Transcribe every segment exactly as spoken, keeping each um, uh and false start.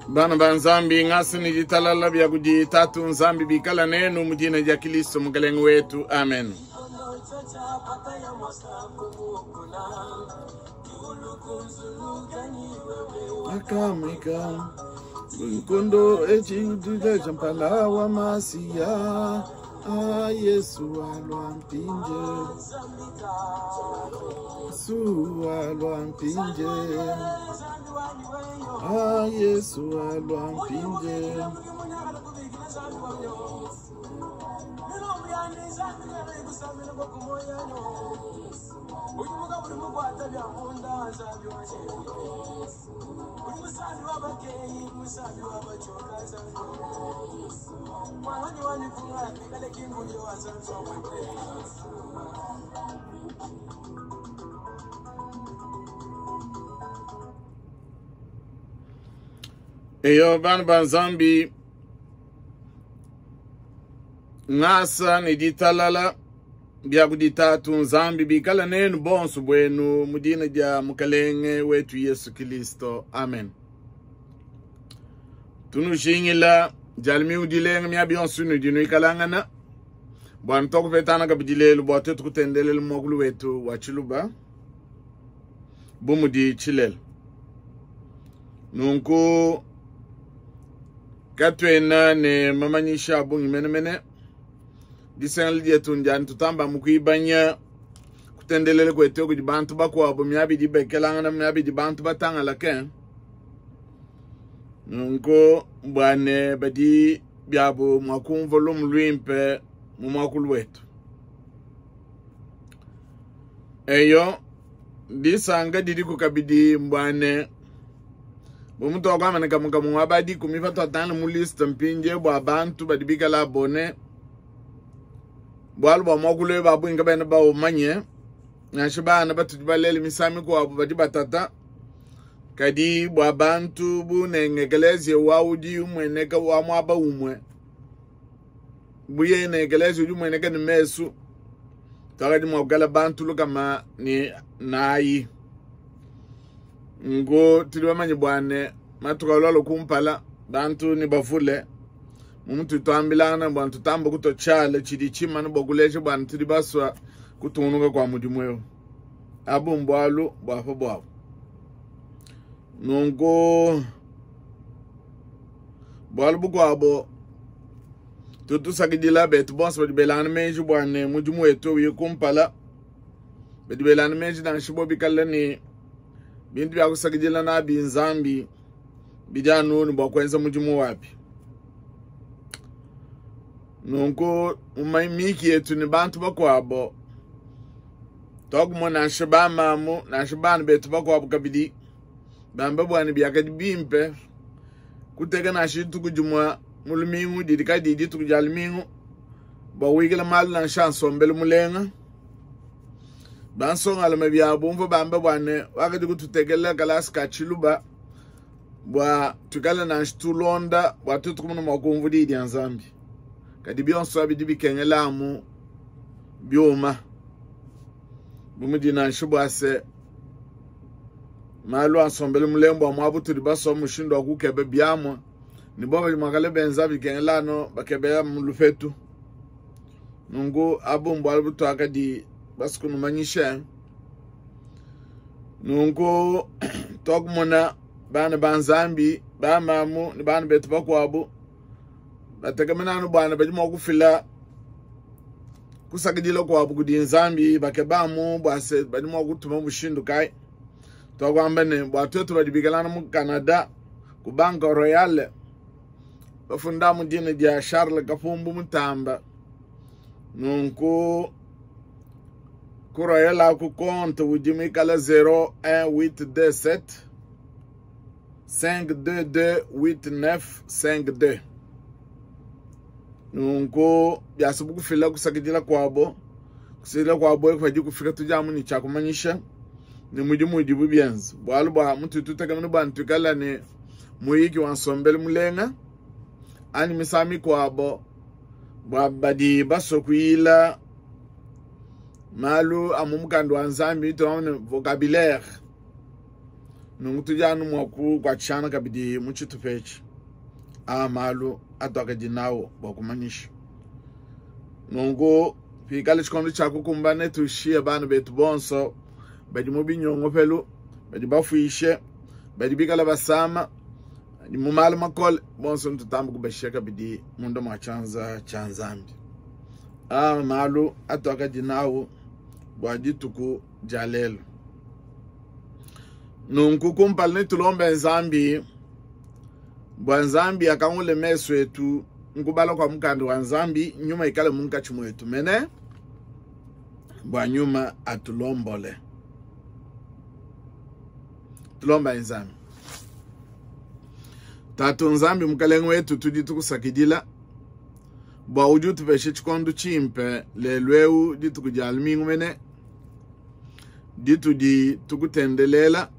Bana ba Nzambi ngasi ni ditalala bya kudi tatu Nzambi bikala nenu mu dina dia Kristo mukelenge wetu, amen. Akamika nkondo echi jampala wa Masia a Yesu alwa mpinje Yesu alwa mpinje a Yesu alwa mpinje Eyo bana ba Nzambi ngasa ni ditalala bya kuditatu Nzambi bikala nenu bonso bwenu mu dina dia mukalenge wetu Yesu Kristo, amen. Tunushingila jalmi udilenga mya bionso nu dinu ikalangana bwa ntokupetana kabidilelu bwa tetu kutendelela mwakulu wetu wa Chiluba bumudi chilela nunku katwena ne mamanyisha bungi menemene disenga dietu ndiani tutamba mukuibanya kutendelele kwetu kudi bantu bakwabo myabidi bekelangana myabidi bantu batangala ke nunku bwane badi byabo mwakumva lumu lwimpe mu mwakulu wetu eyo disanga didi kukabidi mbwane bomuntu wakwamana kamukamu wabadi kumipa twatana mu list mpinje bwa bantu badi bikala abone bwalu bwa mwakulu babu inga bana ba umanye nansha bana batudi balele misami kwabo badi batata kadi bwa bantu bunengekeleze waudi umweneka wa mwaba umwe buye nengekeleze udi umweneka ni mesu twakadi mwakala bantu lukama ni nayi ngo tuli bamanye bwane matuka kumpala bantu ni bavule mumuntu twambilana bwana tutamba kutochala chidi chimana bokuleje bwana tuli baswa kutunuka kwa mudimu eyo abu mbwalu bwafa bwabo nungu bwalu bukwabo tutusakidila betu bonso badi belana meji bwane mudimu wetu uye kumpala badi belana meji nansha bikala ni bintu bya kusakidila na binzambi bijanu ni bwa kwenza mudimu wapi nunku miki yetu ni bantu bakwabo twakumona nansha bamamu nansha bana betu bakwabo kabidi bamba bwana byakadi bimpe kuteka nansha dituku dimwa mu lumingu didi kadi dituku dia lumingu bwa wikila malu nansha nsombelu mulenga bansongalama byabo mva bamba bwana wakadi kututekela kalasi ka Chiluba bwa tukala nansha tulonda bwa tutu kumona mwakumva didi dia Nzambi kadi bionso abidi bikengelamu byuma bumudi nansha bwase malu ansombele mulembo wa mwabu tuli baso mushindo wa kukebe byamwa ni boba mwakale benza bikengelano bakebea mulufetu nungu abu mbwalu butwakadi basukunumanyisha nungu twakumona bana ba Nzambi bamamu ni bana betu bakwabo bategemenano bwana badi mwakufila kusakidila kwabo kudi Nzambi bakebamu bwase badi mwakutuma mushindu kai twakwamba ne bwa twetu badi bikalana mu Canada ku Banque Royale bafunda mu dina dia Charles Kapumbu Mutamba nunku ku Royal ku compte udi mikala zéro un huit deux sept cinq deux deux huit neuf cinq deux. Nunku biasubu kufila kusakidila kwabo, kusakidila kwabo padi kufika tudi amu ne tshiakumanyisha ne mudimu udibu bienza. Bualu bua mutu tutekamene bua ntuikala ne muyiki wa nsombelu mulenga anyi misangu mikuabo bua badi basue kuyila malu a mu mukanda wa Nzambi tuamone vocabulaire. Nunku tudi anu mua kukuatshishana kabidi mu tshitupa etshi a malu atuakadi nawo bua kumanyisha. Nunku pikale tshikondo tshia kukumbana tushiye bana betu bonso badi mu binyongopelu, badi bafuishe, badi bikala basama, badi mu malu makole, bonso ntutamba kubashiya kabidi munda mua tshianza tshia Nzambi. A malu atuakadi nawo bua dituku dia lelo. Nunku kumpala netulombe Nzambi bua Nzambi akangule mesu etu nkubala kwa mukanda wa Nzambi, nyuma ikale munkatshi mwetu mene bua nyuma atulombole. Tulomba Nzambi. Tatu Nzambi mukalenge wetu tudi tukusakidila bua udi utupeshe tshikondo tshimpe lelu eu dituku dia lumingu mene ditudi tukutendelela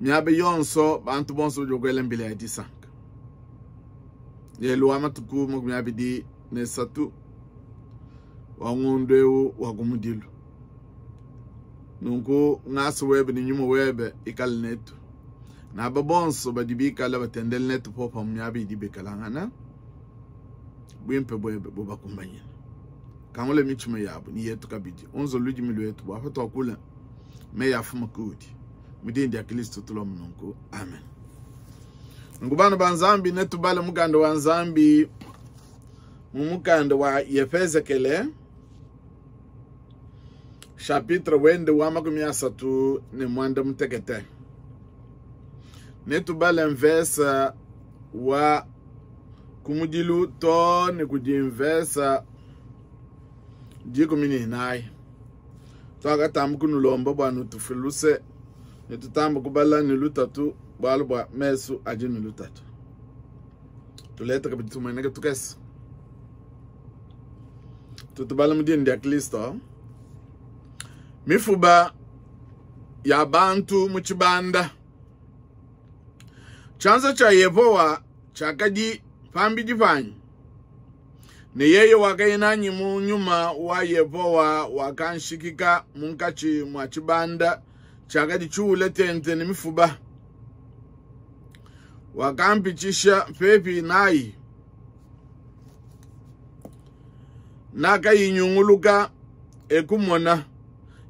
miaba yonso bantu bonso badi bakuela mbila ya disanka. Lelu wa matuku makumi abidi ne satu wa ngondo eu wa kumudilu. Nunku ngasa webe ne nyuma webe ikale netu naba bonso badi bikala batendele netu popa mu miaba idi bikalangana bwimpe bwebe bubakumbanyine. Kangule mitshima yabo ni yetu kabidi unzo ludimi lwetu bua patwakula meyi afuma kudi mu dina dia Kristo tulomba nunku amen. Nunku bana ba Nzambi netubale mukanda wa Nzambi mu mukanda wa Yefezekele chapitre wende wa makumi asatu ne mwanda mutekete. Netubale mvesa wa kumudilu to ne kudi mvesa dikumi ne inayi. Twakatamba kunulomba bua nutufiluse ne tutamba kubala ne lutatu bualu bua mesu adi ne lutatu. Tuleta kabidi tumueneke tukese. Tutubala mu dina dia Kristo. Mifuba ya bantu mu tshibanda. Tshianza tshia Yehowa tshiakadi pambidi panyi, ne yeye wakaya nanyi mu nyuma wa Yehowa wakanshikika munkatshi mua tshibanda tshiakadi tshiule tente ne mifuba. Wakampitshisha pepi nayi, nakayinyunguluka ekumona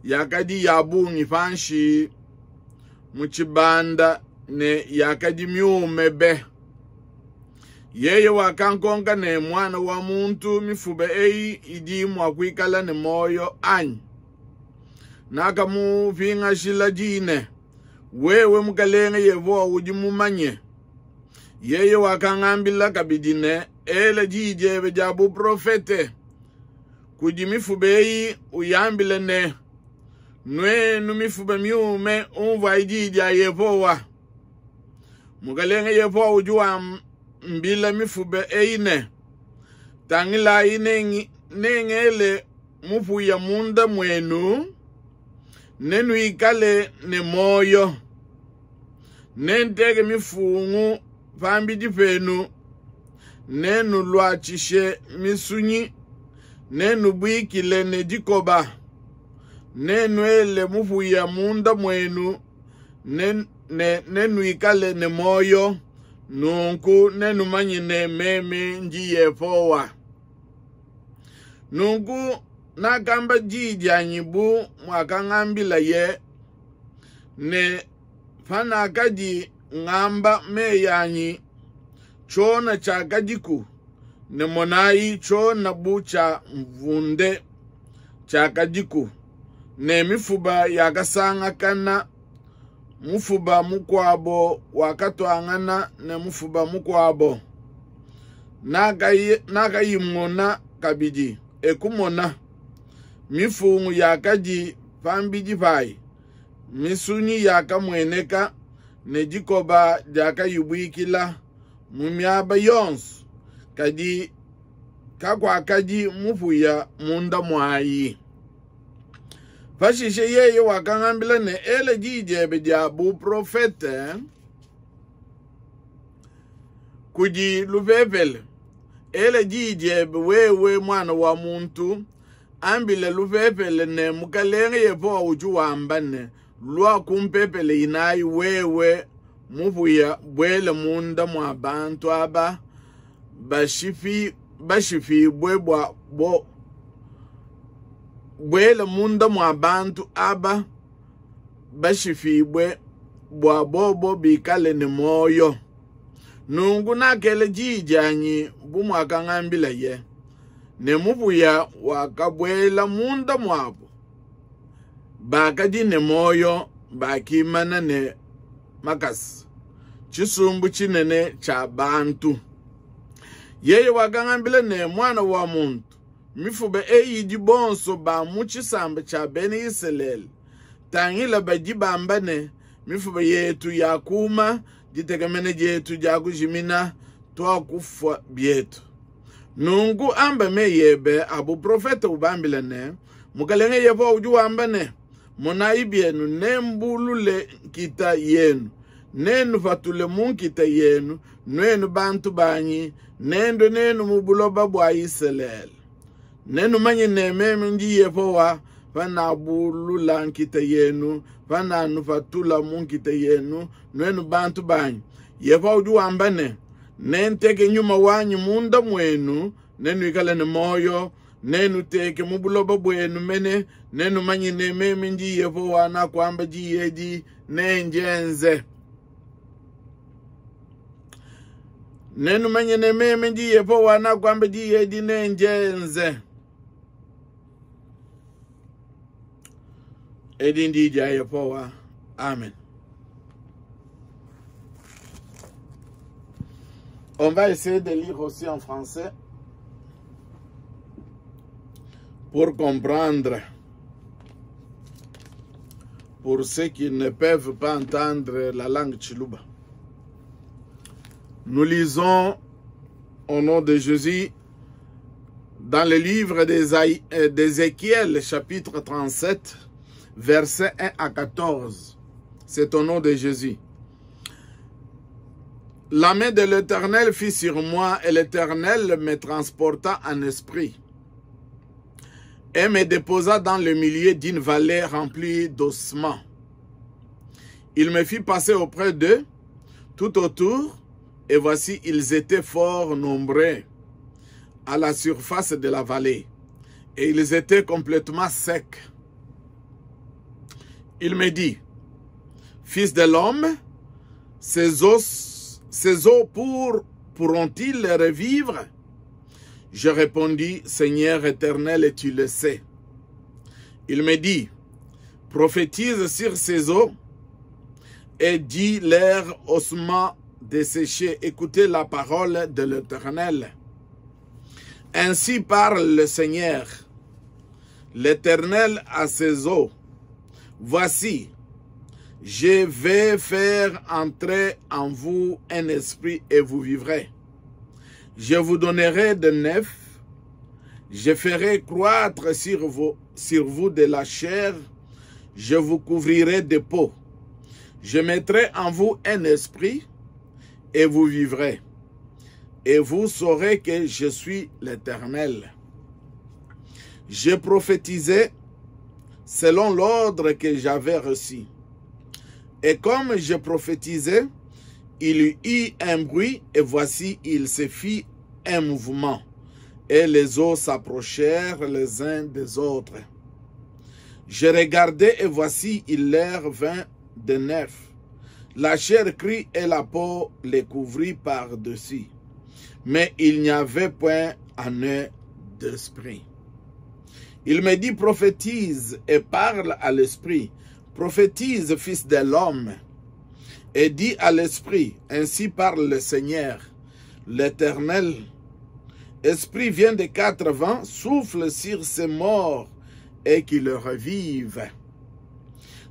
yakadi ya bungi panshi mu tshibanda ne yakadi miume be. Yeye wakankonka ne mwana wa muntu, mifuba eyi idi mua kuikala ne moyo anyi? Nakamupingashila dine, wewe mukalenge Yehowa udi mumanye. Yeye wakangambila kabidi ne, ela diyi diebe dia buprofete kudi mifuba eyi, uyambile ne, nwenu mifuba miume, umvuayi diyi dia Yehowa. Mukalenge Yehowa udi wambila mifuba eyi ne, tangilayi nengele mupuya munda mwenu, nenuikale ne moyo. Nenteke mifungu pambidi penu, nenulwatshishe misunyi, nenubwikile ne dikoba, nenuele mupuya munda mwenu, nenuikale ne moyo. Nunku nenumanyine meme ndi Yehowa. Nunku nakamba diyi dianyi bu mwakangambila ye, ne panakadi ngamba meyi anyi, tshiona tshiakadiku, ne monayi tshiona bu tshia mvunde tshiakadiku, ne mifuba yakasangakana, mufuba mukuabo wakatuangana ne mufuba mukuabo. Nakayimona kabidi ekumona mifungu yakadi pambidi payi, misunyi yakamueneka, ne dikoba diakayibuikila mu miaba yonso, kadi kakuakadi mupuya munda muayi. Pashishe yeye wakangambila ne, ela diyi diebe dia buprofete kudi lupepele, ela diyi diebe wewe muana wa muntu, ambila lupepele ne, Mukalenge Yehowa udi wamba ne, lua ku mpepele inayi, wewe mupuya, buela munda mua bantu aba bashipi bashipibue bua bo buela munda mua bantu aba bashipibue bua bobo bikale ne muoyo. Nunku nakela diyi dianyi bu muakangambilaye, ne mupuya wakabuela munda muabo, bakadi ne muoyo, bakimana ne makasa, tshisumbu tshinene tshia bantu. Yeye wakangambila ne, muana wa muntu, mifuba eyi idi bonso ba mu tshisamba tshia Bena Isalele. Tangila badi bamba ne, mifuba yetu yakuma, ditekemena dietu diakujimina, tuakufua bietu. Nunku amba meyi ebe a buprofete ubambile ne, Mukalenge Yehowa udi wamba ne, monayi bienu, nembulule nkita yenu, nenupatule mu nkita yenu, nuenu bantu banyi, nendue nenu mu buloba bua Isalele. Nenumanye ne meme ndi Yehowa panabulula nkita yenu, pananupatula mu nkita yenu, nuenu bantu banyi. Yehowa udi wamba ne, nenteke nyuma wanyi munda muenu, nenuikale ne muoyo, nenuteke mu buloba buenu mene, nenumanye ne meme ndi Yehowa nakuamba diyi edi, nendienze. Nenumanye ne meme ndi Yehowa nakuamba diyi edi, nendienze. Edi ndi dia Yehowa. Amen. On va essayer de lire aussi en français pour comprendre. Pour ceux qui ne peuvent pas entendre la langue Tshiluba. Nous lisons au nom de Jésus dans le livre d'Ézéchiel, chapitre trente-sept, versets un à quatorze. C'est au nom de Jésus. La main de l'Éternel fut sur moi et l'Éternel me transporta en esprit et me déposa dans le milieu d'une vallée remplie d'ossements. Il me fit passer auprès d'eux, tout autour, et voici, ils étaient fort nombreux à la surface de la vallée, et ils étaient complètement secs. Il me dit, fils de l'homme, ces os, ces os pour, pourront-ils revivre? Je répondis, Seigneur éternel, et tu le sais. Il me dit, prophétise sur ces os et dis leurs ossements desséchés, écoutez la parole de l'Éternel. Ainsi parle le Seigneur, l'Éternel à ses os. Voici, je vais faire entrer en vous un esprit et vous vivrez. Je vous donnerai de neuf, je ferai croître sur vous, sur vous de la chair, je vous couvrirai de peau. Je mettrai en vous un esprit et vous vivrez. Et vous saurez que je suis l'Éternel. J'ai prophétisé selon l'ordre que j'avais reçu. Et comme je prophétisais, il y eut un bruit, et voici, il se fit un mouvement. Et les eaux s'approchèrent les uns des autres. Je regardais, et voici, il leur vint de neuf. La chair crut et la peau les couvrit par-dessus. Mais il n'y avait point en eux d'esprit. Il me dit, prophétise et parle à l'esprit. Prophétise, fils de l'homme, et dis à l'esprit, ainsi parle le Seigneur, l'Éternel. Esprit vient des quatre vents, souffle sur ces morts et qu'ils revivent.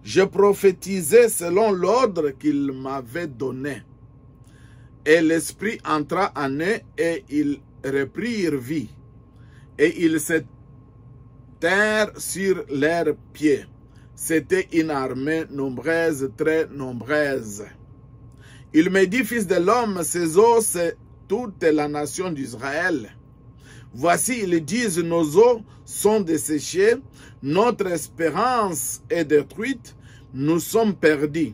Je prophétisais selon l'ordre qu'il m'avait donné. Et l'Esprit entra en eux et ils reprirent vie. Et ils se tinrent sur leurs pieds. C'était une armée nombreuse, très nombreuse. Il me dit, fils de l'homme, ces os, c'est toute la nation d'Israël. Voici, ils disent, nos os sont desséchés, notre espérance est détruite, nous sommes perdus.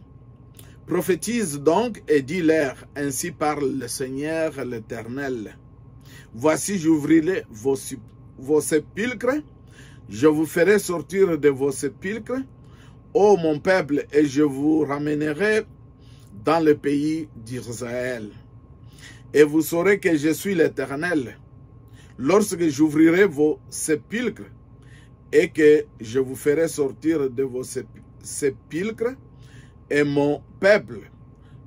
Prophétise donc et dis-leur, ainsi parle le Seigneur l'Éternel. Voici, j'ouvrirai vos, vos sépulcres, je vous ferai sortir de vos sépulcres, ô mon peuple, et je vous ramènerai dans le pays d'Israël. Et vous saurez que je suis l'Éternel, lorsque j'ouvrirai vos sépulcres et que je vous ferai sortir de vos sépulcres et mon peuple.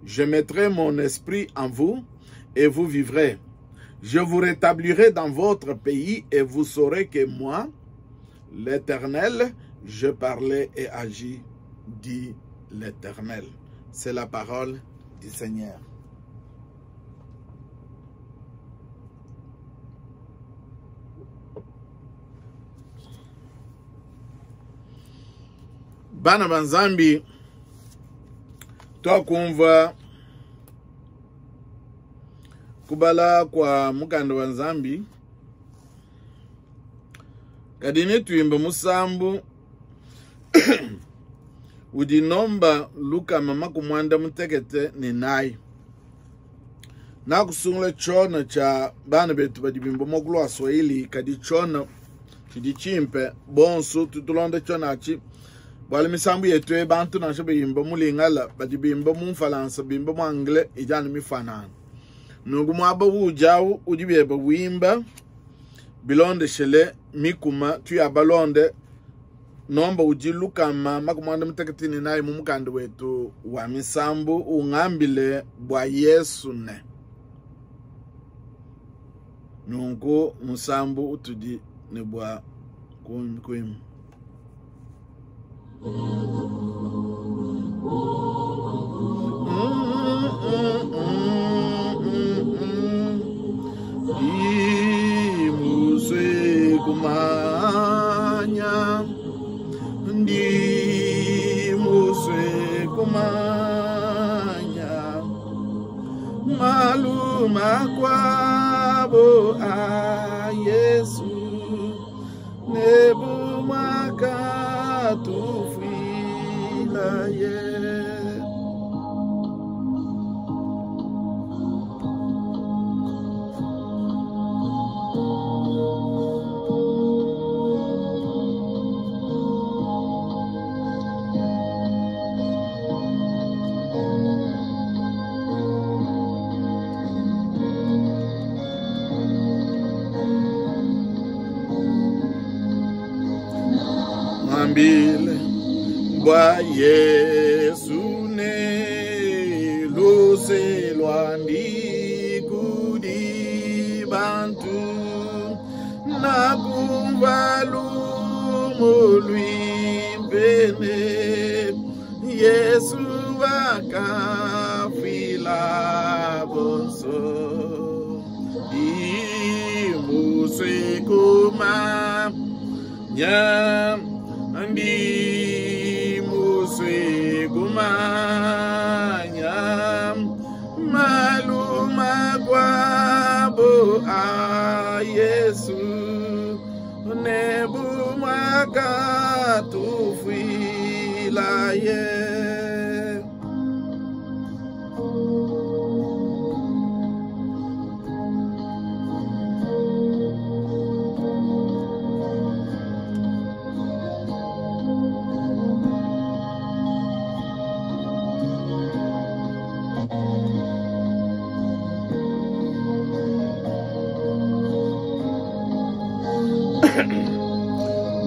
Je mettrai mon esprit en vous et vous vivrez. Je vous rétablirai dans votre pays et vous saurez que moi, l'Éternel, je parlais et agis, dit l'Éternel. C'est la parole du Seigneur. Bana banzambi twakumva kubala kwa mukanda wa Nzambi kadini tuimba musambu udinomba luka mama kumwanda mutekete ni nai nakusungula chona cha bana betu badibimba mokulu wa Swahili kadi chona chidi chimpe bonsu tutulonde chona achi bwale misambu yetu bantu nansha bimba mulingala badibimba mu Mfalansa bimba mu Anglais ijana mifanana nungu mwaba wujawu udibeba wimba bilonde shele mikuma tuya balonde nomba ujilukama makumwanda mutakatini naye mu mukanda wetu wa misambu ungambile bwa Yesu ne nungu musambu utudi ne bwa kuim. Ndi kumanya, ndi muswe kumanya, maluma kwabo a Yesu nebumaka tufila ye. Ambile bwa Yesu ne luse lwandi kudi bantu na kumvalu mulwimpene Yesu wakafila bonso imusekuma nya ndi muswe kumanya maluma kwabo a Yesu nebumaka tufila ye.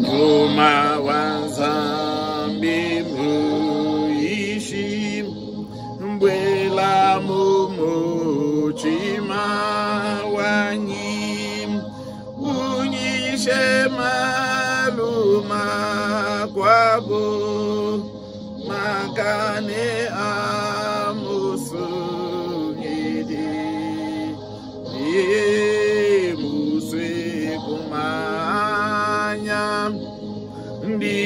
Nyuma wa Nzambi muishi mbwela mumutima wanyi unyishe maluma kwabo Masanka ne a Musungidi. Ndi musue kumanya, ndi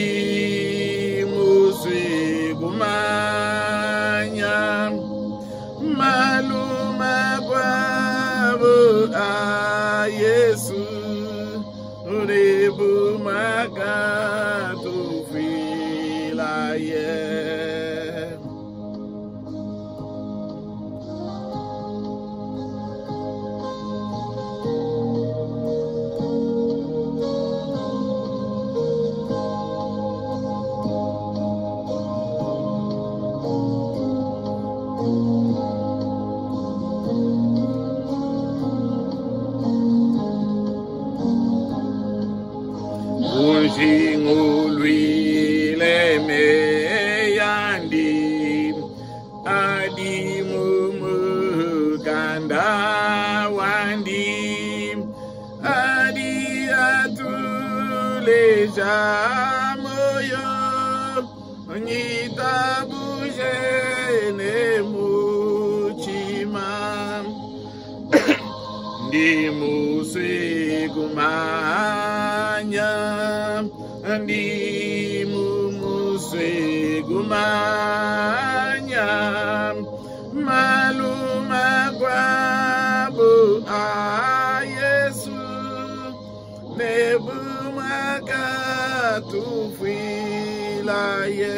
musue kumanya malu makuabu a Yesu ne bu makatufuilaye. Unjingulwile meyandi adi mumukanda wandi adi atuleja moyo nyitabuje ne mutima ndi musue kumanya, ndi musue kumanya malu makuabu a Yesu ne bu makatufuilaye.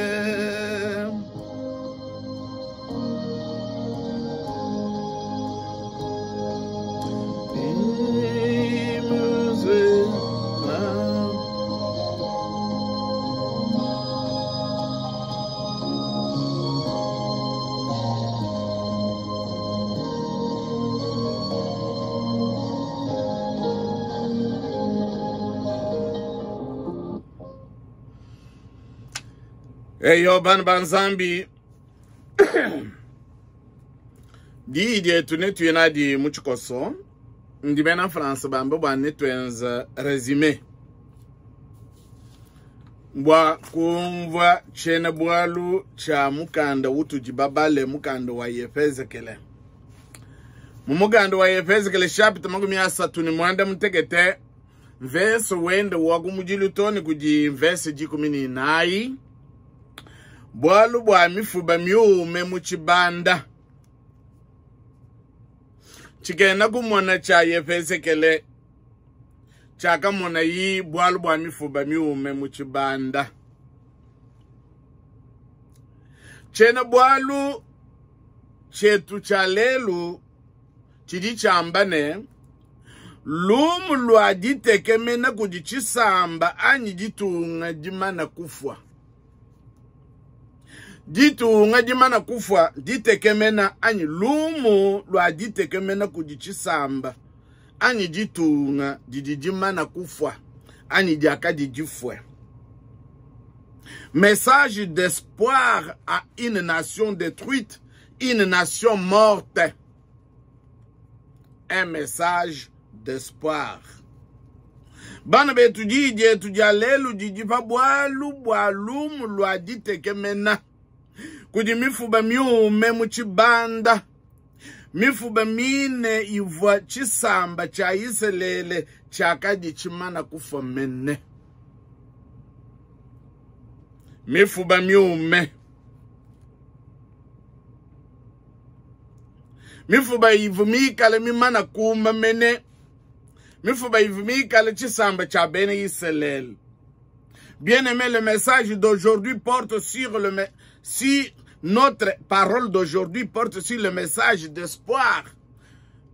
Eyo bana ba Nzambi, diyi dietu netuye nadi mu tshikoso, ndi bena France bambe bua netuenza résumé bua kumvua tshiena bualu tshia mukanda utudi babale, mukanda wa Yefezekele. Mu mukanda wa Yefezekele chapitre makumi asatu ne muanda mutekete, verse wende wa kumudilu to ne kudi verse dikumi ne inayi, bualu bua mifuba miume mu tshibanda tshikena kumona tshia Yefezekele tshiakamona yi bualu bua mifuba miume mu tshibanda. Tshiena bualu tshietu tshia lelu tshidi tshiamba ne lumu lua ditekemena kudi tshisamba anyi ditunga dimana kufua. Ditunga dimana kufua ditekemena anyi lumu lua ditekemena kudi tshisamba anyi ditunga didi dimana kufua anyi diakadi difue. Message d'espoir à une nation détruite, une nation morte. Un message d'espoir. Bana betu diyi dietu dia lelu didi pa bualu bua lumu lua ditekemena kudi mifuba miume mu tshibanda, mifuba mine ivua tshisamba tshia Isalele tshiakadi tshimana kufua mene. Mifuba miume, mifuba ivu mikale mimana kuma mene, mifuba ivu mikale tshisamba tshia bena Isalele. Bien-aimé, le message d'aujourd'hui porte sur le si notre parole d'aujourd'hui porte sur le message d'espoir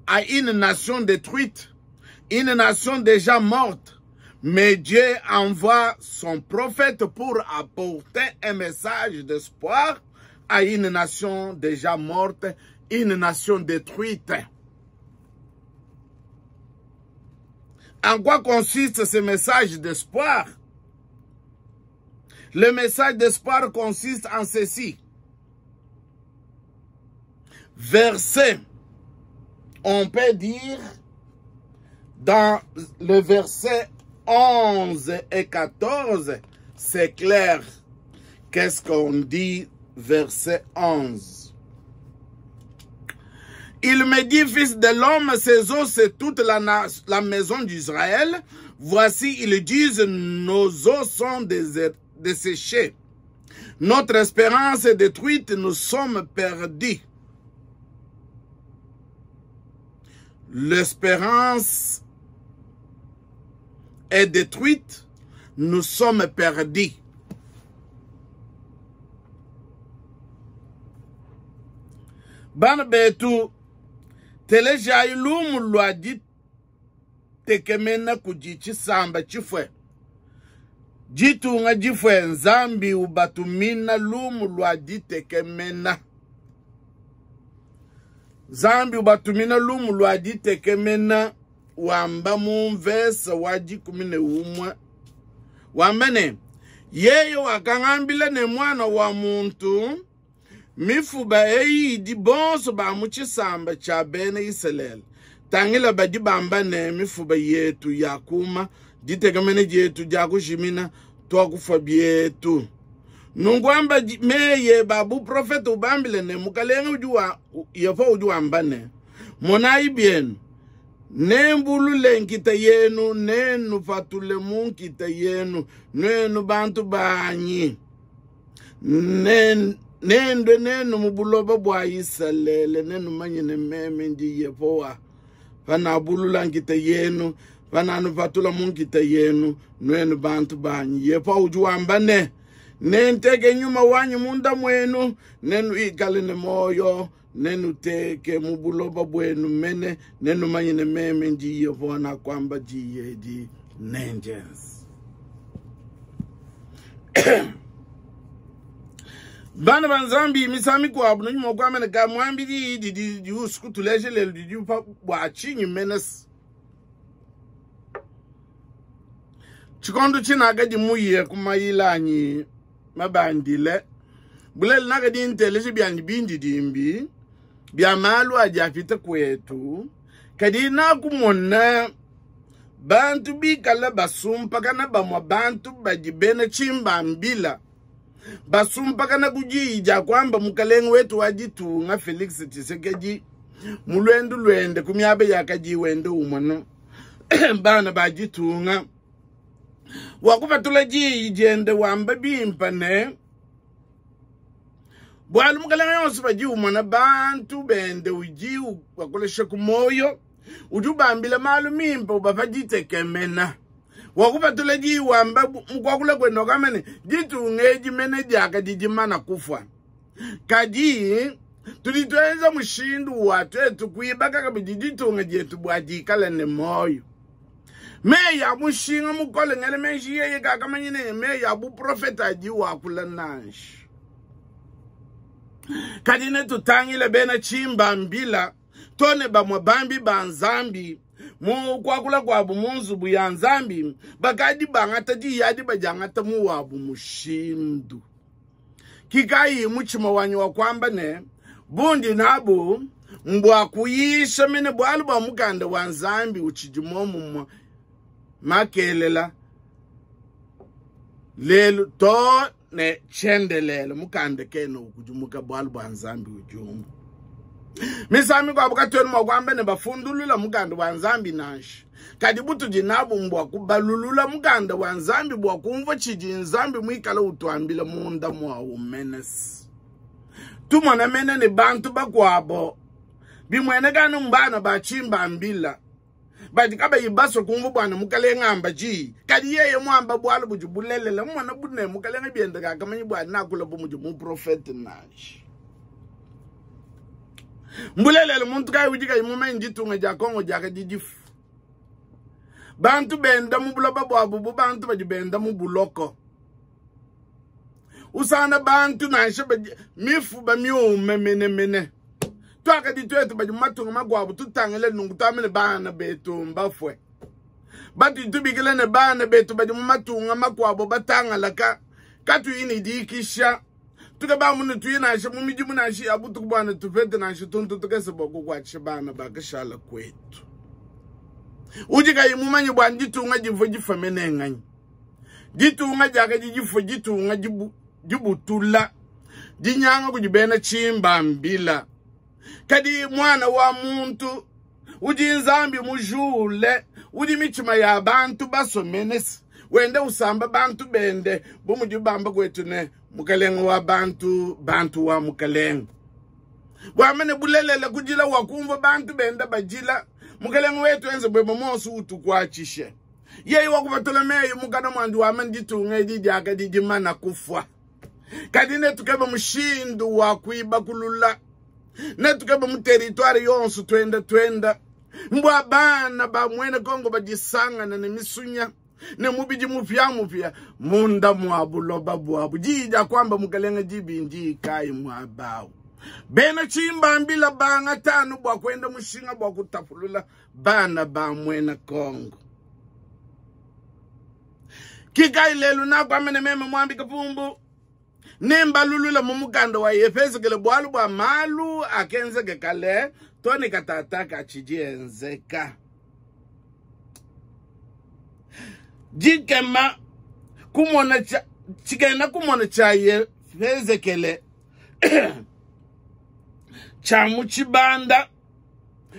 à une nation détruite, une nation déjà morte. Mais Dieu envoie son prophète pour apporter un message d'espoir à une nation déjà morte, une nation détruite. En quoi consiste ce message d'espoir? Le message d'espoir consiste en ceci. Verset, on peut dire dans le verset onze et quatorze, c'est clair. Qu'est-ce qu'on dit verset onze. Il me dit, fils de l'homme, ces os, c'est toute la, la maison d'Israël. Voici, ils disent, nos os sont desséchés. Notre espérance est détruite, nous sommes perdus. L'espérance est détruite, nous sommes perdus. Bana betu teleja ilumu lwa ditekemena kudi tshisamba tshifue ditunga difue Nzambi ubatumina lumu lwa ditekemena. Nzambi ubatumina lumu lwa ditekemena wamba mu mvesa wa dikumi ne umwe wamba ne yeye wakangambila ne mwana wa muntu mifuba eyi idi bonso ba mu tshisamba tshia bena Isalele tangila badi bamba ne mifuba yetu yakuma ditekemena dietu dia kujimina twakufa bietu. Nungu amba meye babu profeta ubambile ne mukalenga udi wa Yehova udi wamba ne monayi bienu nembulule nkita yenu nenu patule mu nkita yenu nenu bantu banyi nen nendwe nenu mu buloba bwa Isalele nenu manyine meme ndi Yehova panabulula nkita yenu pananu patula mu nkita yenu nwenu bantu banyi. Yehova udi wamba ne nenteke nyuma wanyu munda mwenu nenu ikale ne moyo nenu teke mu buloba bwenu mene nenu manyine meme ndi Yehova na kwamba diye di nenjens. Bana ba Nzambi misami kwa abu nyuma kwa mene ka mwambi di di di di usiku tuleje lelo di di pa bwa chinyi menes. Chikondo chinaga di muye kumayilanyi mabandile bulele naga di nteleje byanyi bindi dimbi bya malu ajafita kwetu kadi na kumona bantu bikala basumpa kana bamwa bantu badi bena chimbambila basumpa kana kujija kwamba mukalenga wetu wajitunga Felix Tshisekedi mulwendu lwende kumyabe yakaji wende umwana bana bajitunga wakupatula jijende wamba bimpane bwalu mukalenga yonse baji umwana bantu bende uji wakolesha kumoyo ujubambila malu mimpa ubapajitekemena wakupatula ji wamba mkwakula kwenda kamene jitungeji mene jaka kufa kadi tulitweza mushindu wa twetu kuibaka kabidi jitunga jetu bwajikala ne moyo meya mushinga mukole ngele menshi yeye kakamanyine meya bu profeta ji wakula nanshi kadi ne tutangile bena chimba mbila tone bamwe bambi ba Nzambi mu kwakula kwabu munzubu ya Nzambi bakadi bangata di yadi bajangata mu wabu mushindu kikai muchima wanyu wa kwamba ne bundi nabu mbwa kuyisha mene bwalu bwa mukanda wa Nzambi uchijimomu makelela lelu to ne chendelele mukanda keno kujumuka bwalu bwa Nzambi ujumu misami kwa bukatweni mwa ne bafundulula mukanda wa Nzambi nanshi kadi butu dinabu mbwa kubalulula mukanda wa Nzambi bwa kumva chidi Nzambi mwikala utuambila munda mwa umenes tumona mene ne bantu bakwabo bimwenekana mbana bachimba mbila badi kaba ibaso kumva bwana mukalenga amba ji kadi yeye mwamba bwalo bujubulelela mwana bune mukalenga bienda kakamanyi bwana nakula bumuju mu prophet nanshi mbulelele muntu kai ujika imume njitunga ja Kongo ja didifu bantu benda mu buloba bwabu bu bantu badi benda mu buloko usana bantu nansha mifu ba miume mene mene twaka ditwetu badi matunga magwabu tutangele nungu tamene bana betu mbafwe batu tubikile ne bana betu badi matunga makwabo batangalaka katu ini dikisha tukaba munu tuyina mu mijimu nashi abutu kubwana tupete nashi tuntu tukese boko kwa chibana bakashala kwetu ujika imumanye bwa nditunga jivo jifamene nganyi ditunga jaka jifo jitunga jibu jibutula Dinyanga kudi bena tshimbambila. Kadi mwana wa muntu udi Nzambi mujule, udi mitshima ya bantu basomenese, wende usamba bantu bende bu mudi bamba kwetu ne mukalenge wa bantu, bantu wa mukalenge. Bwamene bulelela kujila wa kumva bantu bende bajila, mukalenge wetu enze bweba monso utukwatshishe. Yeye wakupatula meyi mukana mwandi wa manditunga edi diakadi dimana kufwa. Kadi netukeba mushindu wa kuibakulula, netukeba mu territoire yonso twenda twenda, mbwa bana ba mwene Kongo badisangana ne misunya ne mubidi mupya mupya munda mwa buloba bwabu. Diyi dia kwamba mukalenge dibindi kai mwabawu. Bena chimbambila banga tano bwa kwenda mushinga bwa kutapulula bana ba mwene Kongo. Kikai lelu na kwa mene meme mwambi kapumbu nemba lulula mumukanda wa Yefezekele bwalu bwa malu akenzeke kale toni katata kachijienzeka. Jikema kumona cha chikena kumona cha Yefezekele cha muchibanda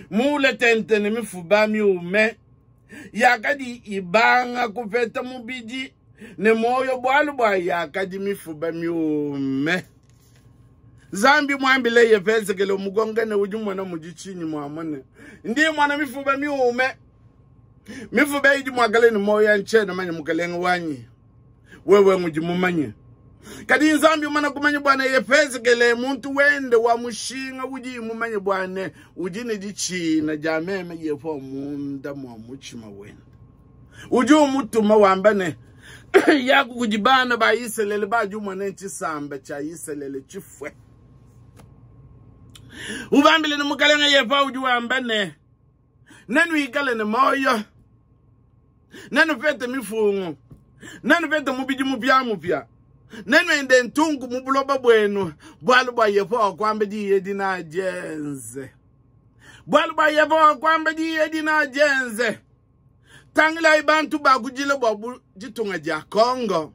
mule tente ne mifuba miume yakadi ibanga kupeta mubidi ne moyo bwalu bwa yakadi mifuba miume. Zambi mwambile Yefezekele mugongane udi mwana mujichinyi mwamone ndi mwana mifuba miume mifuba idi mwagale ni moyo ya nchena manye mukalenga wanyi wewe ngudi mumanye. Kadi Nzambi mwana kumanye bwana Yefezekele muntu wende wa mushinga udi mumanye bwana udi ne dichina jameme yefo munda mwa muchima wende udi umutuma wambane yaku kujibana ba Iselele ba jumwa ne chisamba cha Iselele chifwe. Ubambile ne mukalenga yefa udi wambane nenu ikale ne moyo nenu pete mifungo nenu pete mubidi mupya mupya nenu ende ntungu mubuloba bwenu bwalu bwa yefa kwambe diye dina jenze bwalu bwa yefa kwambe diye dina jenze. Tangila ibantu bakujile bwa jitunga ja Kongo.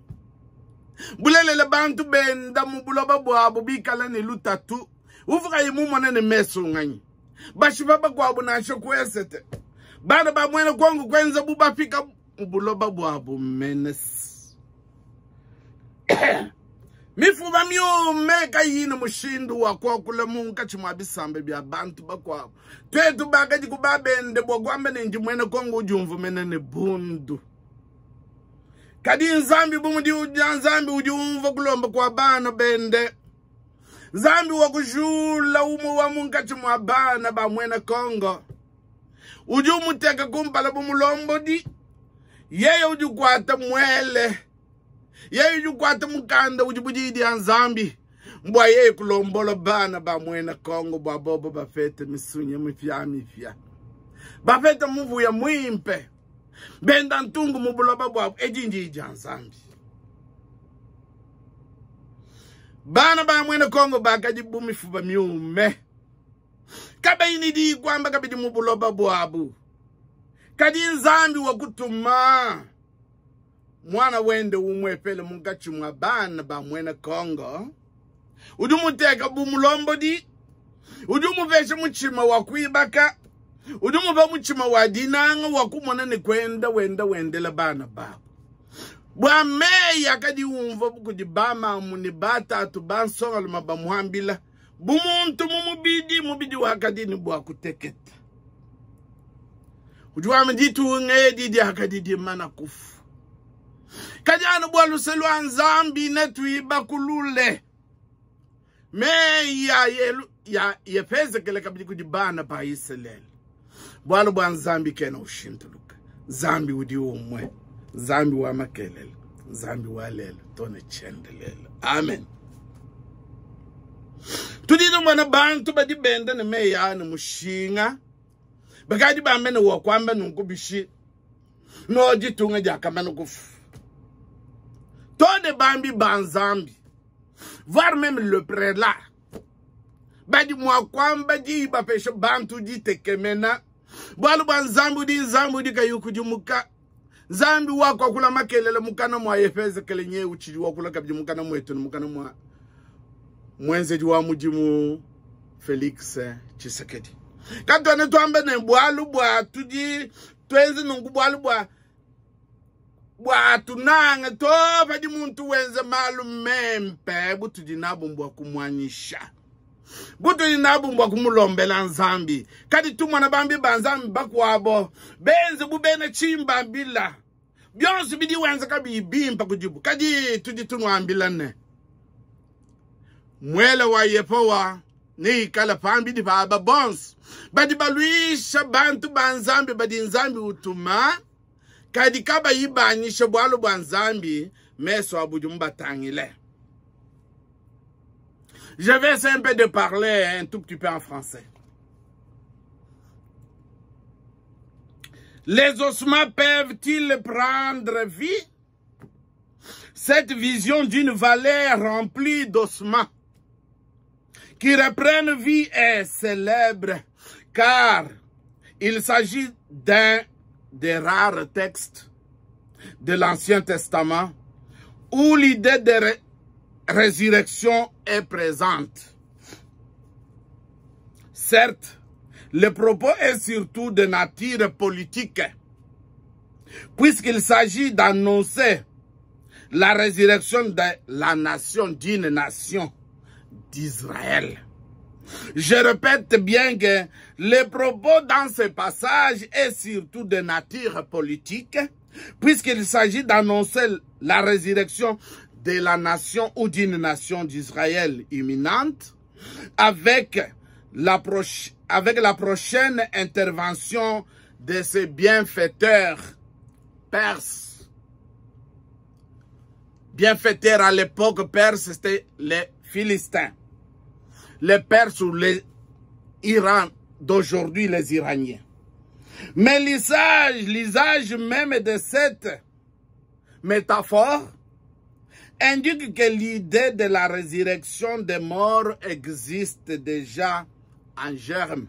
Bulelele bantu benda mubuloba bwabo bikala ne lutatu. Uvuka imumone ne meso nganyi. Bashiba kwabo na shokwesete. Bana ba mwene Kongo kwenza bubafika mubuloba bwabo menes. Mifuba miume kayina mushindu wa kwakula munka chimwa bisambe bya bantu bakwabo. Twetu bakaji kubabende bwa kwamba nenji mwene Kongo ujumvu mene ne bundu. Kadi Nzambi bumudi uja Nzambi ujumvu kulomba kwa bana bende. Nzambi wa kujula umu wa munka chimwa bana ba mwene Kongo. Ujumuteka kumpala bumulombodi. Yeye ujukwata mwele. Yeye ujukwata mukanda ujibujidi ya Nzambi. Mbwa yeye kulombola bana ba mwene Kongo bwa bobo bafete misunye mifya mifya. Bafete muvuya mwimpe. Benda ntungu mubuloba bwa ejinji ya Nzambi. Bana ba mwene Kongo bakajibu mifuba miume. Kabaini di kwamba kabidi mubuloba bwabu. Kadi Nzambi wakutuma mwana wende umwepele mungachi mwa bana ba mwene Kongo. Udumuteka bumulombodi. Udumuveshe muchima wa kuibaka. Udumuva muchima wa dinanga wa kumona ni kwenda wenda wendela bana babo. Bwa meya kadi umva kudi bama muni batatu bansonga luma bamuhambila. Bumuntu mumubidi mubidi wakadi ni bwa kuteketa. Ujuwa mditu ngedi di akadi di mana kufu. Kajano bwa luselwa Nzambi netuiba kulule. Meya yelu ya Yefezekele kabidi kujibana pa Iselele. Bwalo bwa Nzambi kena ushintuluka. Nzambi udi umwe. Nzambi wa makelele. Nzambi wa lelo. Tone chendelele. Amen. Tudido mwana bantu badi benda ne meya ne mushinga. Bakadi bamene wa kwamba nunkubishi. No jitunga jakamana kufu. Tone bambi banzambi. Voire même le prélat. Badi mwa kwamba di bapesha bantu di tekemena. Bwalu bwa Nzambi di Nzambi di kayuku di muka. Nzambi wako akula makelele mukana mwa Yefezekele nye uchili wakula kabidi mukana mwetu ni mukana mwa Mwenzedi wa mudimu Felix Tshisekedi. Katuena tuamba ne bualu bua tudi tuenze nunku bualu bua bua tunange to padi muntu wenza malu mempe butudi nabu mbua kumwanyisha. Butudi nabu mbua kumulombela Nzambi. Kadi tumona bambi ba Nzambi bakuabo benze bubena chimbambila. Byonso bidi wenza kabiyi bimpe kudibu. Kadi tudi tunuambila ne mwele wa Yehowa neikale pambidi pa aba bonso badi baluisha bantu ba Nzambi badi Nzambi utuma kadi kabayi banyisha bualu bua Nzambi meso abu mbatangile. Je vais essayer un peu de parler un tout petit peu en français. Les ossements peuvent-ils prendre vie? Cette vision d'une vallée remplie d'ossements qui reprennent vie est célèbre, car il s'agit d'un des rares textes de l'Ancien Testament où l'idée de ré- résurrection est présente. Certes, le propos est surtout de nature politique, puisqu'il s'agit d'annoncer la résurrection de la nation, d'une nation d'Israël. Je répète bien que le propos dans ce passage est surtout de nature politique, puisqu'il s'agit d'annoncer la résurrection de la nation ou d'une nation d'Israël imminente, avec la, proche, avec la prochaine intervention de ces bienfaiteurs perses. Bienfaiteurs à l'époque perse, c'était les Philistins. Les Perses ou les Iran d'aujourd'hui, les Iraniens. Mais l'usage, l'usage même de cette métaphore indique que l'idée de la résurrection des morts existe déjà en germe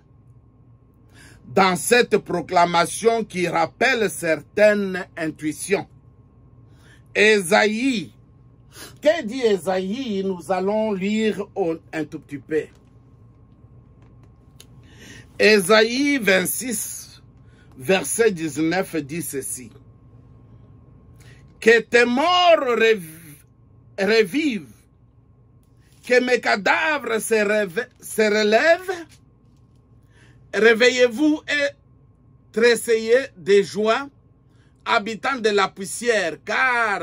dans cette proclamation qui rappelle certaines intuitions. Ésaïe, que dit Ésaïe? Nous allons lire un tout petit peu. Ésaïe vingt-six, verset dix-neuf dit ceci. Que tes morts revivent, que mes cadavres se, se relèvent. Réveillez-vous et tressayez de joie, habitants de la poussière, car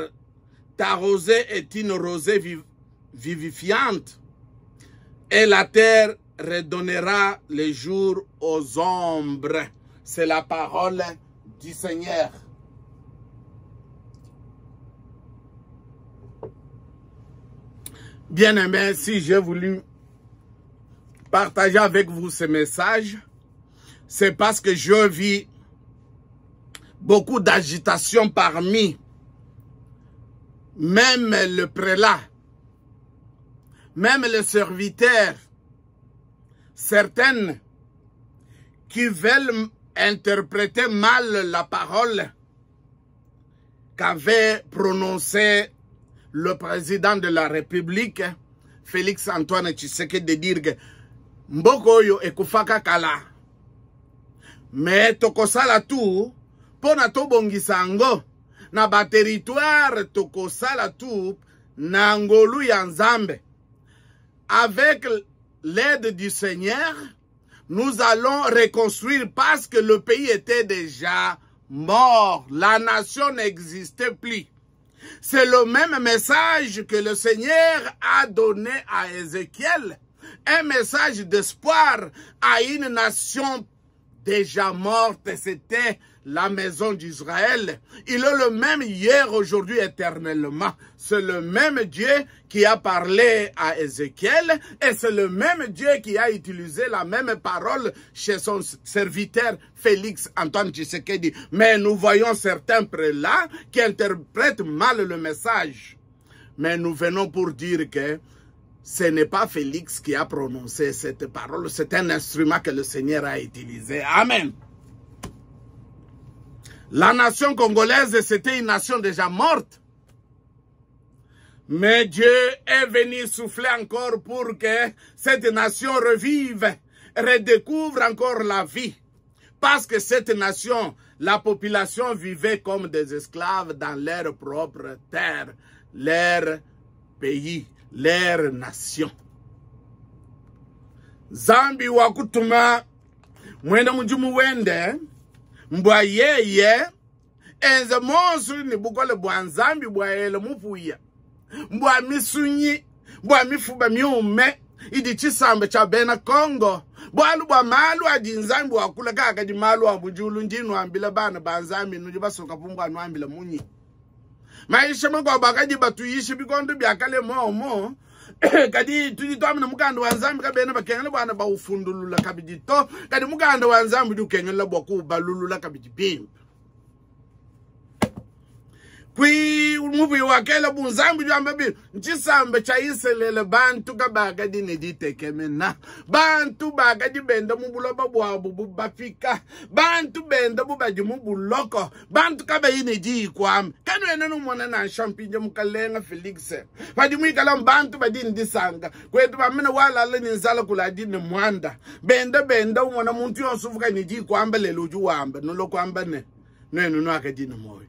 ta rosée est une rosée viv vivifiante, et la terre redonnera les jours aux ombres. C'est la parole du Seigneur. Bien-aimés, si j'ai voulu partager avec vous ce message, c'est parce que je vis beaucoup d'agitation parmi même le prélat, même le serviteur, certaines qui veulent interpréter mal la parole qu'avait prononcée le président de la République, Félix Antoine Tshisekedi, de dire que mboka oyo ekufaka kala. Mais tokosala tout pona tobongisa yango na ba territoire, tokosala tout na ngolu ya Nzambe. Avec l'aide du Seigneur, nous allons reconstruire parce que le pays était déjà mort. La nation n'existait plus. C'est le même message que le Seigneur a donné à Ézéchiel. Un message d'espoir à une nation déjà morte. C'était la maison d'Israël. Il est le même hier, aujourd'hui, éternellement. C'est le même Dieu qui a parlé à Ézéchiel et c'est le même Dieu qui a utilisé la même parole chez son serviteur Félix Antoine Tshisekedi. Mais nous voyons certains prélats qui interprètent mal le message. Mais nous venons pour dire que ce n'est pas Félix qui a prononcé cette parole, c'est un instrument que le Seigneur a utilisé. Amen. La nation congolaise, c'était une nation déjà morte. Mais Dieu est venu souffler encore pour que cette nation revive, redécouvre encore la vie. Parce que cette nation, la population vivait comme des esclaves dans leur propre terre, leur pays, leur nation. Nzambi wakutuma mwena mudimu wende mbwa yeye enze monsu ni bukole bwa Nzambi bwa ele mupuya mbwa misunyi mbwa mifuba miume idi chisamba cha bena Congo bwalu bwa malu adi Nzambi wakula kaka di malu a mujulu ndinu ambila bana ba Nzambi nudi basoka pumbwa nwambila munyi maisha makwa bakadi batuishi bikondo byakale momo kadi tudi twamina mukanda wa Nzambi kabena bakengela bwana baufundulula kabidi to kadi mukanda wa Nzambi dukengela bwa kubalulula kabidi bimpe kwi mubi wakela bunzambi jamba bi nchisambe cha Iselele bantu kabakadi ne ditekemena bantu bakadi benda mu buloba bwabo bubafika bantu benda bubadi mu buloko bantu kabayi ne dikwam kanwena numona na champignon mukalenga Felix badi mwikala bantu badi ndisanga kwetu bamena walala ni nzala kuladi ne mwanda benda benda umona muntu yonse uvuka ne dikwamba lelo uju wamba nolokwamba ne nwenu nwakadi ne moyo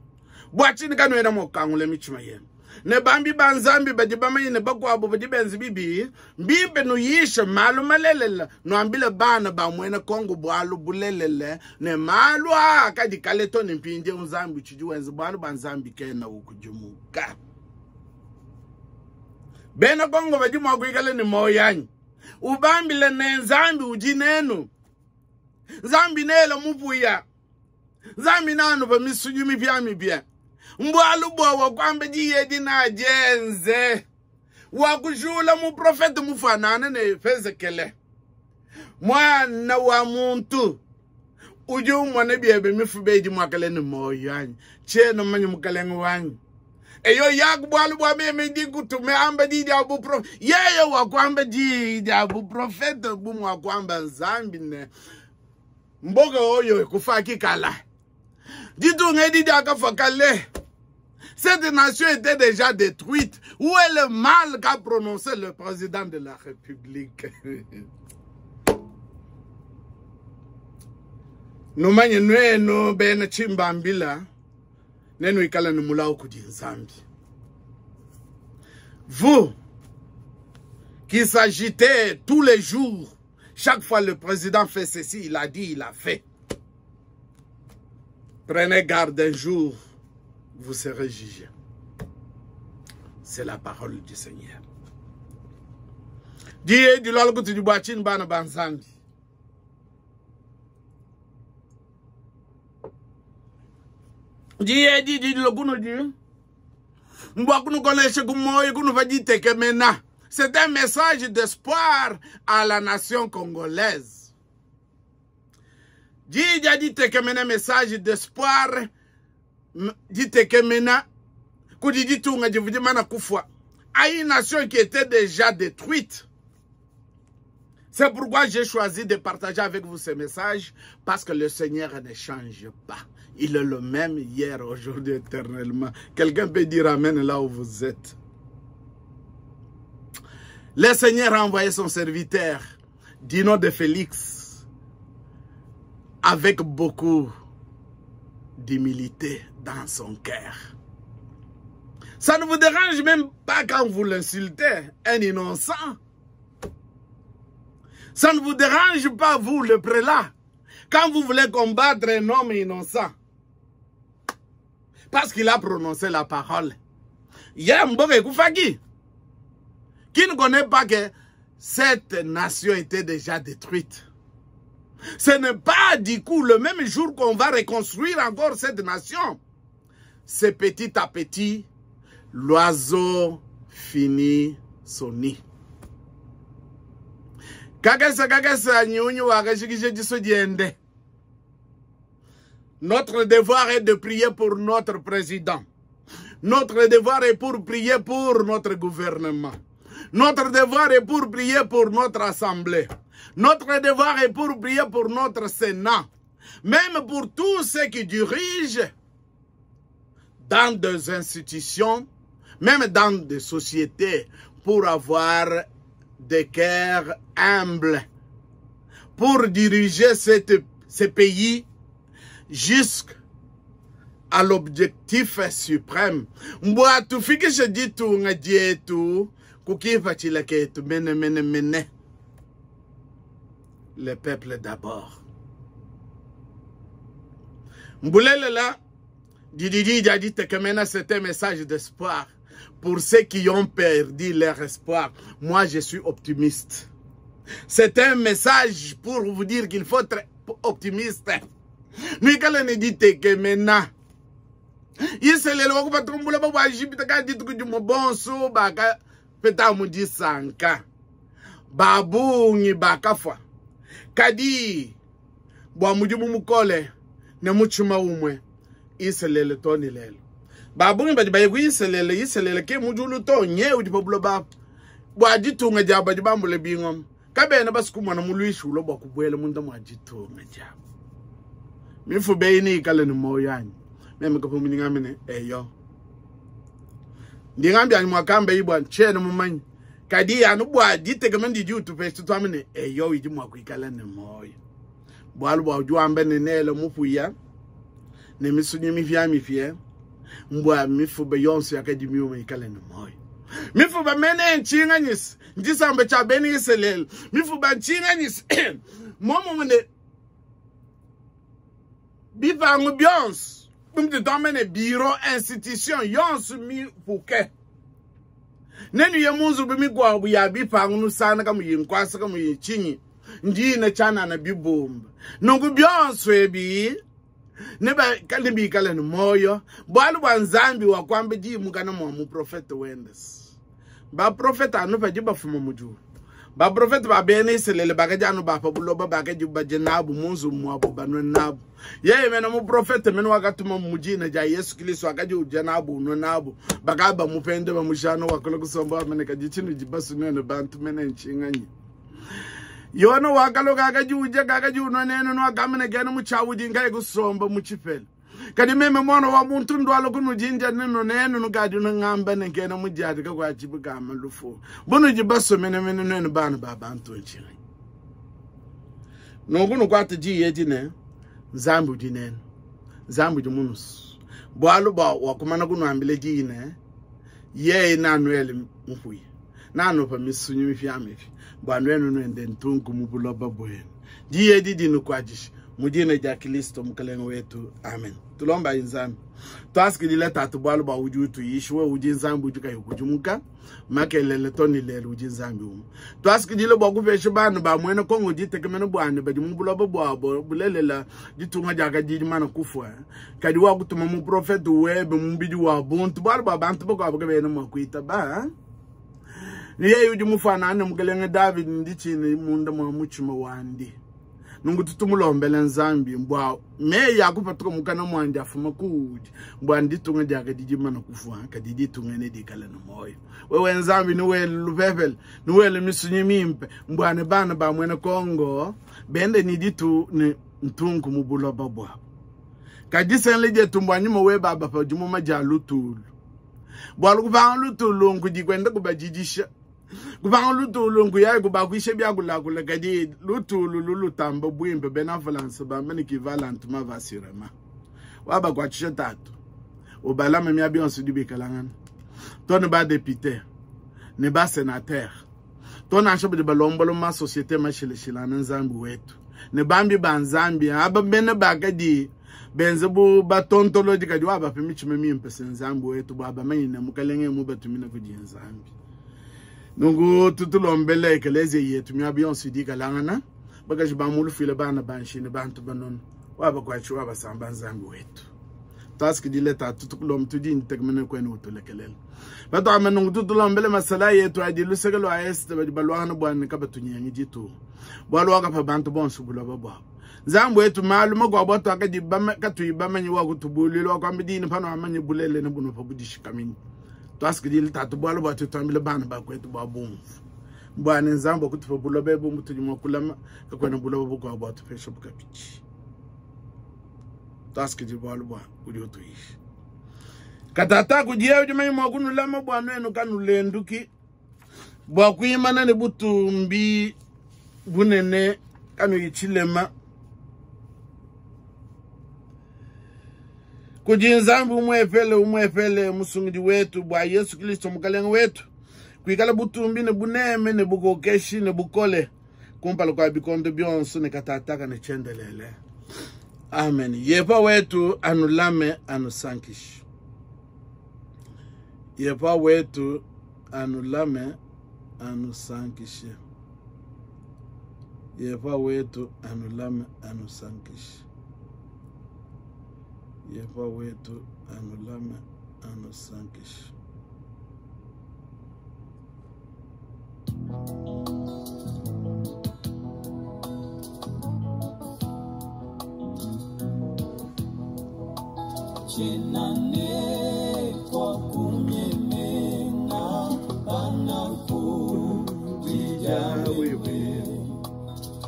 bwachini kanwena mokangule michima yenu ne bambi banzambi badi bamanyine bakwabo badi benzi bibi mbimbe nuyishe malu malelela nwambile bana bamwena Kongo bwalu bulelele ne malu akadi kaleto ne mpinje unzambi chidi wenzi bwalu banzambi kena ukujimuka bena Kongo badi mwakuikale ni moyanyi ubambile ne Nzambi uji nenu Nzambi nela mupuya Nzambi nanu ba misunyu mipya mipya mbwalu bwa wakwamba diye dina jenze wakujula mu profete mufanana ne Ezekiel mwana wa muntu uje umwana byebe mifube di mwakale ne moyo anyi cheno manyu mukalenga wanyu eyo yakubwalu bwa meme ndi kutume amba di dia bu prof yeye wakwamba di dia bu profete bu mwakwamba Nzambi ne mboga oyo kufaki kala ditunga di dia kafakale. Cette nation était déjà détruite. Où est le mal qu'a prononcé le président de la République? Numanye nwenu bena chimbambila nenu ikala numulao kudi Nzambi. Vous qui s'agitez tous les jours, chaque fois le président fait ceci, il a dit, il a fait. Prenez garde un jour, vous serez jugés. C'est la parole du Seigneur. Dieu du lol kuti du bwachin bana banzambi. Dieu dit du lokuno di. Mbwa kunu koleshe kumoyo kunu vajite kemena. C'est un message d'espoir à la nation congolaise. Dieu dit tekemena message d'espoir. Dit tekemena kudi ditunga jivudimana kufwa à une nation qui était déjà détruite. C'est pourquoi j'ai choisi de partager avec vous ce message, parce que le Seigneur ne change pas. Il est le même hier, aujourd'hui, éternellement. Quelqu'un peut dire amen là où vous êtes. Le Seigneur a envoyé son serviteur, du nom de Félix, avec beaucoup d'humilité dans son cœur. Ça ne vous dérange même pas quand vous l'insultez, un innocent. Ça ne vous dérange pas, vous, le prélat, quand vous voulez combattre un homme innocent. Parce qu'il a prononcé la parole. Qui ne connaît pas que cette nation était déjà détruite. Ce n'est pas du coup le même jour qu'on va reconstruire encore cette nation. C'est petit à petit, l'oiseau finit son nid. Notre devoir est de prier pour notre président. Notre devoir est pour prier pour notre gouvernement. Notre devoir est pour prier pour notre assemblée. Notre devoir est pour prier pour notre Sénat. Même pour tous ceux qui dirigent dans des institutions, même dans des sociétés, pour avoir des cœurs humbles, pour diriger cette, ce pays jusqu'à l'objectif suprême. Mbwa tufikishe ditunga dietu kukipatshila ketu mene mene mene. Le peuple d'abord. Mboulelela, Dididi a dit que maintenant c'est un message d'espoir pour ceux qui ont perdu leur espoir. Moi, je suis optimiste. C'est un message pour vous dire qu'il faut être optimiste. Nuikale ne dit que maintenant, Iselele wakupatumbula bwa Egypte ka dituku dimue bonso bakapeta mu disanka babungi bakafua kadi bua mudimu mukole ne mutshima umue Iselele too ne lelu babungi badi baye ku Iselele Iselele ke mu diulu too nye udi pa buloba bua ditunga diabu badi bambule bingoma kabena basukumona muluishi ulua bua kubuela munda mua ditunga diabu mifuba eyi neyikale ne muoyo anyi meme kapumuni ngambe ne eyo ndingambi anyi mwakamba ibwa ntshiena mumanye kadi anu bua ditekemena didi utupesha tuambe ne eyo idi mua kuikala ne muoyo bualu bua udi wamba ne nele mupuya ne misunyi mipiamipia mbua mifuba yonso yakadi miuma ikale ne muoyo mifuba mene ntshinganyisa ntshisamba tshia bena Isalele mifuba ntshinganyisa momumue ne bipangu bionso bumudi tuamba ne biro institution yonso mipuke nenuye mu nzubu mikuabu ya bipangu nusana kamuyi nkuasa kamuyi tshinyi ndina tshianana bibumba nunku bionso ebi nebikale ne muoyo bualu bua Nzambi wakuamba diyi mukana mua muprofete wende baprofete anu badi bafuma mu diulu baprofete ba bena Isalele bakadi anu ba pa buloba bakadi badia nabu mu nzubu muabu banua nabu yeye mene muprofete mene wakatuma mu dina dia Yesu Kristo wakadi udia nabu unua nabu bakaba bamupende bamujana wakula kusomba wamene kadi tshinudi basunene bantu mene ntshinganyi Yona wakaloka akadi udia kakadi unua nenu nuakamene kena mutshiawudi nkayi kusomba mu tshipela kadi meme mwana wa muntu ndwala kunudindia nenu nenu nukadi nungamba ne nkena mudiadika kua tshibukama lufu bunudi basomenemene nuenu bana ba bantu ntshinganyi nunku nukuata diyi edi ne Nzambi udi nenu Nzambi udi munusu bualu bua wakumana kunuambila diyi ne yeye nanuele mupuya nanupa misunyi mipiamipia bua nuenu nuende ntunku mu buloba buenu diyi edi dinukuatshishe mu dina dia Kristo mukalenge wetu amen tulombayi Nzambi tuasikidile tatu bualu bua udi utuyisha wewe udi Nzambi udi kayi ukudimuka makelele to ne lelu udi Nzambi umue tuasikidile bua kupesha bana ba muena Kongo ditekemena buani badi mu buloba buabo bulelela ditunga diakadi dimana kufua kadi wakutuma muprofete webe mubidi wa buntu bualu bua bantu bakuabu kabena mua kuitaba ne yeye udi mufanane mukelenge David nditshina munda mua mutshima wandi nunku tutumulombele Nzambi mbwa meyi akupatuka mukana mwandi afuma kuudi mbwa nditunga diakadi dimana kufua kadi ditunga ne dikale ne muoyo wewe Nzambi niwele lupepele niwele misunyi mimpe mbwa ne bana ba muena Kongo bende ni ditu ne ntunku mu buloba buabu kadi senle dietu mbwa nyuma we baba pa dimuma dia lutulu bualu kupanga lutulu nkudi kuenda kubadidisha kupanga lutulu nkuyaye kubakwisha byakulakula kadi lutulu lulutamba bwimpe bena Falansa bamba ne kivalantuma vasirema wabakwatshisha tatu ubalama mia bionso dibikalangana to ne ba député ne ba sénateur to nansha badi balombola ma société mashilashilana Nzambi wetu ne bambi ba Nzambi aba bene bakadi benze bu batontolodi kadi wabape mitshima mimpe se Nzambi wetu bua bamanye ne mukalenge mu batumina kudi Nzambi nunku tutulombele ekelezia yetu mia bionso dikalangana bakaji bamulufile bana banshine bantu banono wabakwatshi wabasamba Nzambi wetu tasikidile tatu tukulomba tudi ntekemene kwenu utulekelela batwame nunku tutulombele masala yetu adi luseke lwa este badi balwangana bwana kabatunyengi ditunga bualu wakapa bantu bonso buloba buabu Nzambi wetu malu makuabu atuakadi katuyi bamanyi wakutubulila wakuamba dini pano amanye bulele ne buno pa budishikamini twasikidile tatu bualu bua tutuambile bana bakwetu bua bumvu bwana Nzambi wakutupa buloba ebu mutudi mua kulama kakuena buloba bukuabu buatupesha bukapitshi twasikidile bualu bua udi utuyisha Katata kudiye udi manya mua kunulama bua nuenu kanulenduki, bua kuimana ne butumbi bunene kanuyi tshilema. Kudi Nzambi umwepele umwepele musungidi wetu bua Yesu Kristo mukalenge wetu, kuikala butumbi ne buneme ne bukokeshi ne bukole kumpala kwa bikondo bionso ne katataka ne tshiendelele. Amen. Yepa wetu anulame anusankishe. Yepa wetu anulame anusankishe. Yepa wetu anulame anusankishe. Yepa wetu anulame anusankishe. Chenane kwa kunyemena panakujija wewe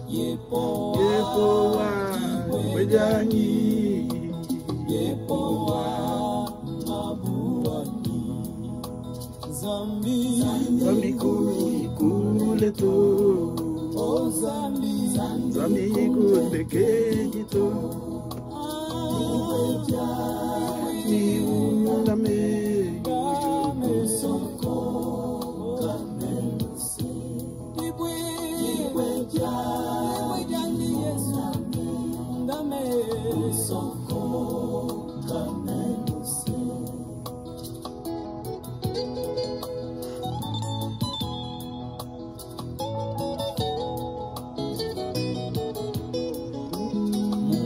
yepo Yepo wa wejanyi yepo wa mabuani zambi Zambi kule tu o zambi Zambi kule tu Ni uname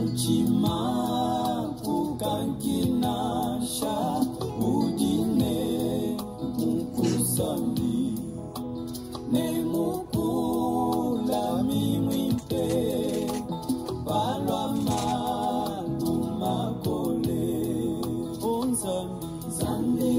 Muchima kukankinasha udine mukusambi ne mukula mimwimpe balwa malu makole onzambi zambi